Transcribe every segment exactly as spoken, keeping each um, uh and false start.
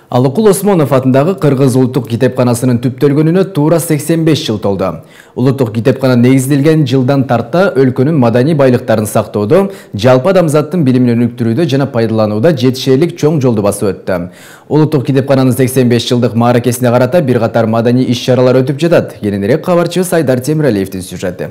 Алыкул Осмонов атындагы Кыргыз улуттук китепканасынын түптөлгөнүнө туура сексен беш жыл толду. Улуттук китепкана негизделген жылдан тарта өлкөнүн маданий байлыктарын сактоодо, жалпы адамзаттын билимин өнүктүрүүдө жана пайдаланууда жетишерлик чоң жолду басып өттү. Улуттук китепкананын сексен беш жылдык мааракесине карата бир катар маданий иш-чаралар өтүп жатат. Кененирээк кабарчыбыз Айдар Темиралиевдин сюжети.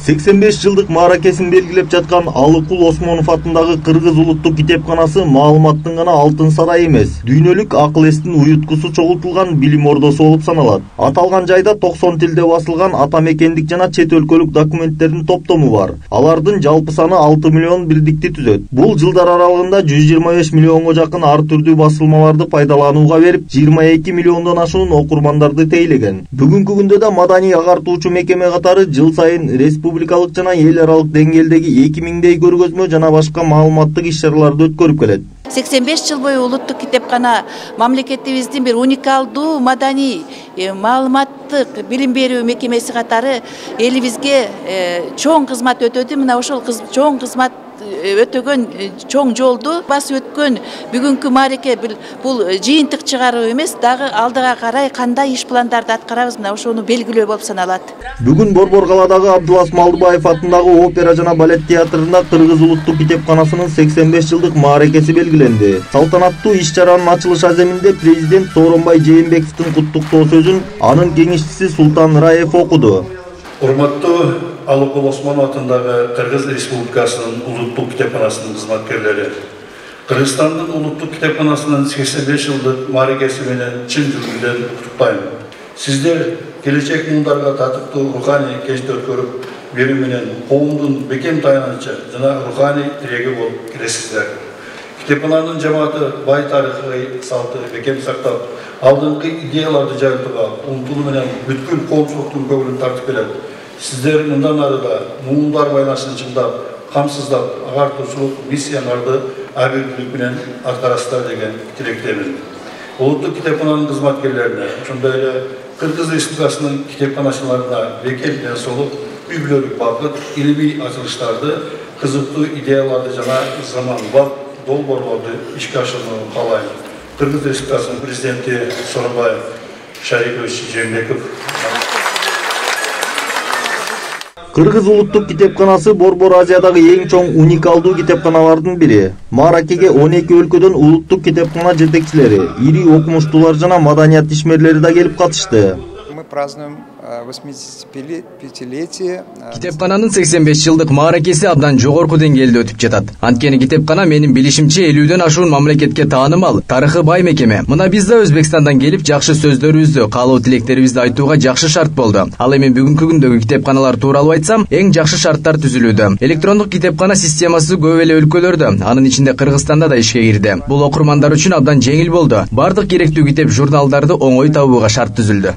сексен беш жылдык мааракесин белгилеп жаткан Алыкул Осмонов атындагы Кыргыз улуттук китепканасы маалыматтын гана алтын сарайы эмес, дүйнөлүк акыл эстин уюткусу чогултулган билим ордосу болуп саналат. Аталган жайда токсон тилде басылган ата мекендик жана чет өлкөлүк документтердин топтому бар. Алардын жалпы саны алты миллион бирдикти түзөт. Бул жылдар аралыгында жүз жыйырма беш миллионго жакын ар түрдүү басылмаларды пайдаланууга берип, жыйырма эки миллиондон ашуун окурмандарды тейлеген. Бүгүнкү күндө да маданий агартуучу мекеме катары жыл сайын республика республикалык жана эл аралык деңгээлдеги эки миңдей көргөзмө жана башка маалыматтык иш-чараларды өткөрүп келет. сексен беш жыл бою улуттук китепкана мамлекетибиздин бир уникалдуу маданий маалыматтык билим берүү мекемеси катары элибизге чоң кызмат өтөдү. Мына ошол чоң кызмат өтөгөн чоң жолду басып өткөн бүгүнкү маареке бул жыйынтык чыгаруу эмес, дагы алдыга карай кандай иш пландарды аткарабыз, мына ошону белгилөө болуп саналат. Бүгүн Борбор калаадагы Абдулас Малдыбаев атындагы опера жана балет театрында Кыргыз улуттук китепканасынын сексен беш жылдык мааракеси белгиленди. Салтанаттуу иш-чаранын ачылыш аземинде президент Сооронбай Жээнбековдун куттуктоо сөзүн анын кеңешчиси Султан Раев окуду. Урматтуу Алыкул Осмонов атындагы Кыргыз Республикасынын улуттук китепканасынын кызматкерлери, Кыргызстандын улуттук китепканасынын сексен беш жылдык мааракеси менен чын жүргүндөн куттуктайм. Сиздер келечек муундарга татыктуу руханий кечти өткөрүп берүү менен коомдун бекем таянычы жана руханий тиреги болуп келесиздер. Китепкананын жамааты бай тарыхый салты бекем сактап, алдыңкы идеяларды жайылтууга умтулуу менен бүткүл коомчулуктун көңүлүн тартып келет. Сиздер мындан ары да муундар байланышын чыңдап, камсыздап, агартуучулук миссияларды абийирлик менен аткарасыздар деген тилектемин. Улуттук китепкананын кызматкерлерине, ошондой эле Кыргыз Республикасынын китепканачыларына бекем ден соолук, үй-бүлөлүк бакыт, илимий ачылыштарды, кызыктуу идеяларды жана заманбап долбоорлорду ишке ашырууну каалайм. Кыргыз Республикасынын президенти Сооронбай Шарипович Жээнбеков. Кыргыз улуттук китепканасы Борбор Азиядагы эң чоң уникалдуу китепканалардын бири. Мааракеге он эки өлкөдөн улуттук китепкана жетекчилери, ири окумуштуулар жана маданият ишмерлери да келип катышты. Мы празднуем восьмидесятипятилетие. Китепкананын сексен беш жылдык мааракеси абдан жогорку деңгээлде өтүп жатат. Анткени китепкана менин билишимче элүүдөн ашуун мамлекетке таанымал, тарыхы бай мекеме. Мына биз да Өзбекстандан келип жакшы сөздөрүбүздү, каалоо тилектерибизди айтууга жакшы шарт болду. Ал эми бүгүнкү күндөгү китепканалар тууралуу айтсам, эң жакшы шарттар түзүлүүдө. Электрондук китепкана системасы көп эле өлкөлөрдө, анын ичинде Кыргызстанда да ишке кирди. Бул окурмандар үчүн абдан жеңил болду. Бардык керектүү китеп журналдарды оңой табууга шарт түзүлдү.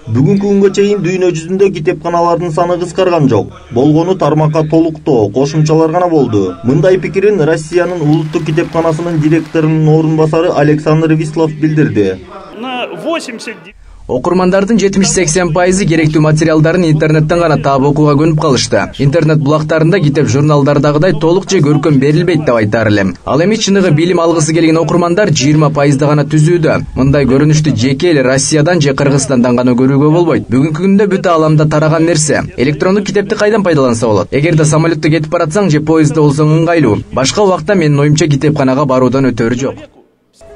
Бүгүнкү күнгө чейин дүйнө жүзүндө китепканалардын саны кыскарган жок. Болгону тармакка толуктоо, кошумчалар гана болду. Мындай пикирин Россиянын улуттук китепканасынын директорунун орун басары Александр Вислов билдирди. Окурмандардын жетимиш-сексен пайызы керектүү материалдарын интернеттен гана таап окууга көнүп калышты. Интернет булактарында китеп журналдардагыдай толук же көркөм берилбейт деп айтаар элем. Ал эми чыныгы билим алгысы келген окурмандар жыйырма пайызда гана түзүүдө. Мындай көрүнүштү жеке эле Россиядан же Кыргызстандан гана көрүүгө болбойт. Бүгүнкү күндө бүт ааламда тараган нерсе. Электрондук китепти кайдан пайдаланса болот? Эгерде самолетто кетип баратсаң же поездда болсоң ыңгайлуу. Башка убакта менин оюмча китепканага баруудан өтөрү жок.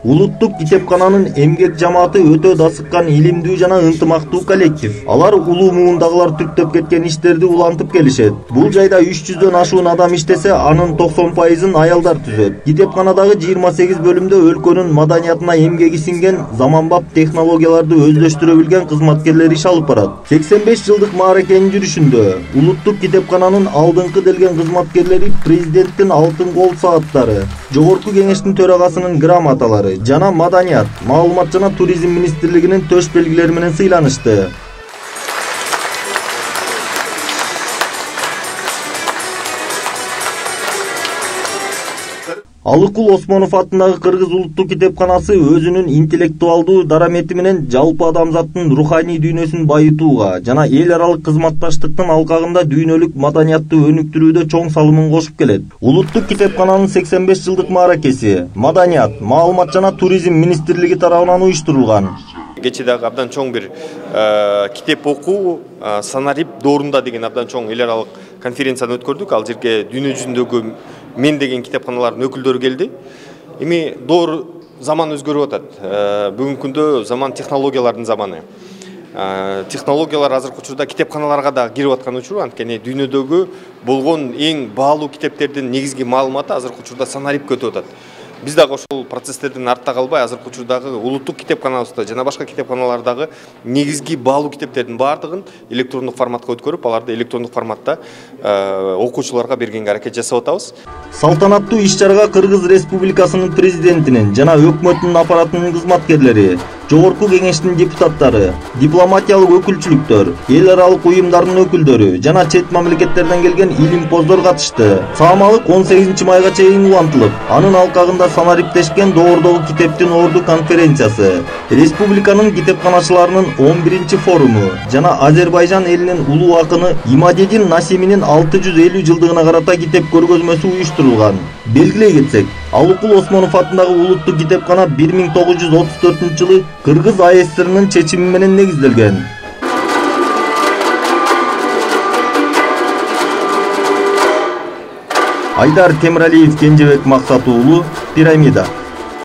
Улуттук китепкананын эмгек жамааты өтө дасыккан илимдүү жана ынтымактуу коллектив. Алар улуу муундагылар түптөп кеткен иштерди улантып келишет. Бул жайда үч жүздөн ашуун адам иштесе, анын токсон пайызын аялдар түзөт. Китепканадагы жыйырма сегиз бөлүмдө өлкөнүн маданиятына эмгеги сиңген, заманбап технологияларды өздөштүрө билген кызматкерлер иш алып барат. сексен беш жылдык мааракенин жүрүшүндө улуттук китепкананын алдыңкы делген кызматкерлери президенттин алтын кол сааттары, жогорку кеңештин төрагасынын грамоталары жана маданият, маалымат жана туризм министрлигинин төш белгилери менен сыйланышты. Алыкул Осмонов атындагы Кыргыз улуттук китепканасы өзүнүн интеллектуалдуу дарамети менен жалпы адамзаттын руханий дүйнөсүн байытууга жана эл аралык кызматташтыктын алкагында дүйнөлүк маданиятты өнүктүрүүдө чоң салымын кошуп келет. Улуттук китепкананын сексен беш жылдык мааракеси Маданият, маалымат жана туризм министрлиги тарабынан уюштурулган. Кечээ дагы абдан чоң бир китеп окуу Санарип доорунда деген абдан чоң эл аралык конференцияны өткөрдүк. Ал жерге дүйнө жүзүндөгү мен деген китепканалардын өкүлдөрү келди. Эми доор заман өзгөрүп атат. Бүгүнкү күндө заман технологиялардын заманы. Технологиялар азыркы учурда китепканаларга да кирип аткан учуру, анткени дүйнөдөгү болгон эң баалуу китептердин негизги маалыматы азыркы учурда Санарипке өтүп атат. Биз дагы ошол процесстерден артта калбай, азыркы учурдагы улуттук китепканабызда жана башка китепканалардагы негизги баалуу китептердин баардыгын электрондук форматка өткөрүп, аларды электрондук форматта окуучуларга бергенге аракет жасап атабыз. Салтанаттуу иш-чарага Кыргыз Республикасынын президентинин жана өкмөттүн аппаратынын кызматкерлери, Жогорку кеңештин депутаттары, дипломатиялык өкүлчүлүктөр, эл аралык уюмдардын өкүлдөрү жана чет мамлекеттерден келген илимпоздор катышты. Саамалык он сегизинчи майга чейин улантылып, анын алкагында Санариптешкен доордогу китептин орду конференциясы, республиканын китепканачыларынын он биринчи форуму жана Азербайжан элинин улуу акыны Имадедин Насиминин алты жүз элүү жылдыгына карата китеп көргөзмөсү уюштурулган. Белгилей кетсек, Алыкул Осмонов атындагы улуттук китепкана бир миң тогуз жүз отуз төртүнчү жылы Кыргыз А С Р'нын чечими менен негизделген. Айдар Темиралиев, Кенжебек Максат уулу, Пирамида.